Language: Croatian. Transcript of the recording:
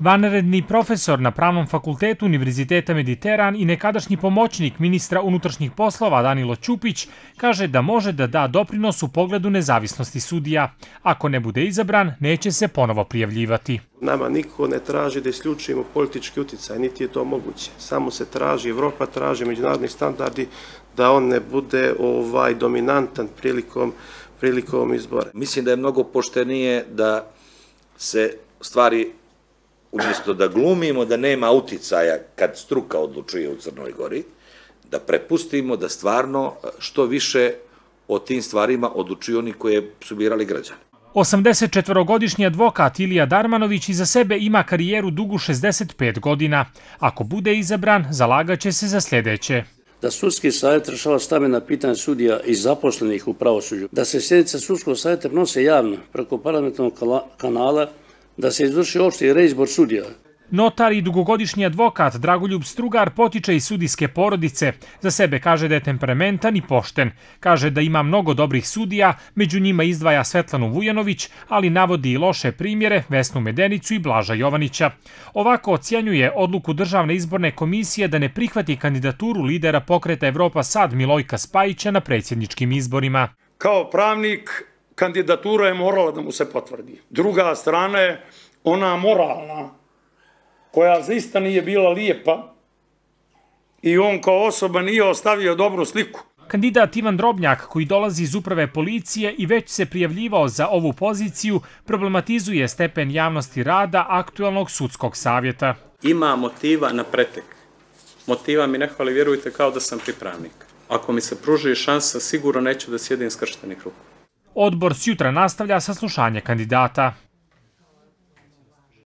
Vanredni profesor na Pravnom fakultetu Univerziteta Mediteran i nekadašnji pomoćnik ministra unutrašnjih poslova Danilo Ćupić kaže da može da da doprinos u pogledu nezavisnosti sudija. Ako ne bude izabran, neće se ponovo prijavljivati. Nama niko ne traži da isključimo politički uticaj, niti je to moguće. Samo se traži, Evropa traži međunarodni standardi da on ne bude dominantan prilikom izbora. Mislim da je mnogo poštenije da se stvari, umjesto da glumimo da nema uticaja kad struka odlučuje u Crnoj Gori, da prepustimo da stvarno što više o tim stvarima odlučuju oni koje su birali građani. 84-godišnji advokat Ilija Darmanović iza sebe ima karijeru dugu 65 godina. Ako bude izabran, zalagaće se za sljedeće. Da sudski savjet rješava stambena pitanja sudija i zaposlenih u pravosuđu, da se sjednice sudskog savjeta prenose javno preko parlamentarnog kanala, da se izvrši opšti reizbor sudija. Notar i dugogodišnji advokat Dragoljub Strugar potiče iz sudijske porodice. Za sebe kaže da je temperamentan i pošten. Kaže da ima mnogo dobrih sudija, među njima izdvaja Svetlanu Vujanović, ali navodi i loše primjere Vesnu Medenicu i Blaža Jovanića. Ovako ocjenjuje odluku Državne izborne komisije da ne prihvati kandidaturu lidera pokreta Evropa Sad Milojka Spajića na predsjedničkim izborima. Kao pravnik, kandidatura je morala da mu se potvrdi. Druga strana je ona moralna, koja zaista nije bila lijepa i on kao osoba nije ostavio dobru sliku. Kandidat Ivan Drobnjak, koji dolazi iz uprave policije i već se prijavljivao za ovu poziciju, problematizuje stepen javnosti rada aktualnog sudskog savjeta. Ima motiva na pretek. Motiva mi ne hvali, vjerujte, kao da sam pripravnik. Ako mi se pruži šansa, sigurno neću da sjedim skrštenih ruku. Odbor sjutra nastavlja saslušanje kandidata.